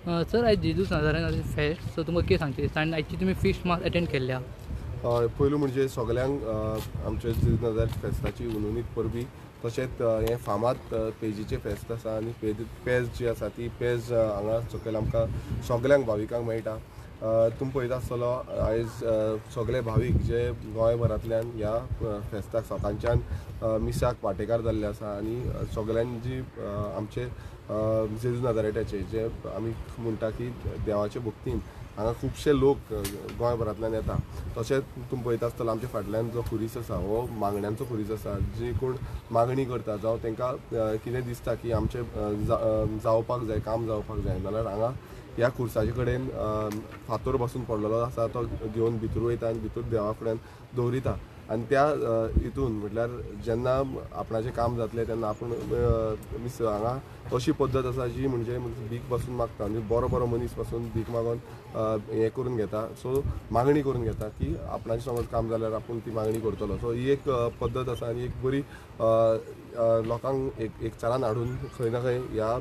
Sir, आयज Jesus नाजारेन फेस्त, so तुमकां कितें सांगचें दिसता आनी आयची तुमी फिस्ट मास अटेंड केल्ल्या? हय, पयलू म्हणजे सगल्यांक आमच्या जेजू नाजारेत फेस्ताची हुनहुनीत परबी. तशेंच हें फामाद पेजीचें फेस्त आसा आनी पेज जी आसा ती पेज हांगा सकयल आमकां सगल्यांक भाविकांक मेळटा. तुमी पळयता आसतलो आयज सगळे भावीक जे गोंयभरांतल्यान ह्या फेस्ताक सकाळच्यान मिसाक वांटेकार जाल्ले आसा आनी सगल्यांनी जी आमचे जेजू नाजारेटाचे जे आमी म्हणटा की देवाचे भक्तीन हांगा खुबशे लोक गोंयभरांतल्यान येता. तशेंच तुमी पळयता आसतलो आमच्या फाटल्यान जो खुरीस आसा हो मागण्यांचो खुरीस आसा. जी कोण मागणी करता जावं तांकां कितें दिसता की आमचें जावपाक जाय, काम जावपाक जाय, नाल्यार हांगा ह्या खुर्साचे कडेन फातोर बसून पडलेलो आसा तो घेवन भितर वयता आनी भितर देवा फुड्यान दवरिता आनी त्या हितून म्हटल्यार जेन्ना आपणाचें काम जातलें तेन्ना आपूण मिस हांगा अशी पद्दत आसा जी म्हणजे भीक बसून मागता आनी बरो बरो मनीस पासून भीक मागून हें करून घेता. सो मागणी करून घेता की आपणाचें समज काम जाल्यार आपूण ती मागणी करतलो. सो ही एक पद्दत आसा आनी एक बरी लोकांक एकचारान हाडून खंय ना खंय ह्या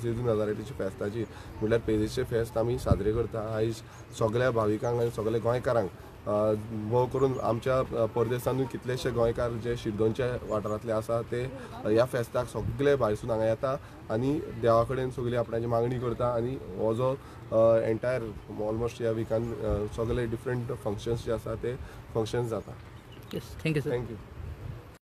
जेजू नाजारेतीच्या फेस्ताची म्हटल्यार पेजेचें फेस्त आमी साजरे करता. आयज सगल्या भाविकांक आनी सगल्या गोंयकारांक भोव करून आमच्या परदेसानूय कितलेशे गोंयकार जे शिरदोनच्या वाठारांतले आसा ते ह्या फेस्ताक सगळे भायरसून हांगा येता आनी देवा कडेन सगळी आपणाची मागणी करता आनी हो जो एंटायर ऑलमोस्ट ह्या विकान सगळे डिफरंट फंक्शन्स जे आसा ते फंक्शन्स जाता. Yes, thank you sir. Thank you.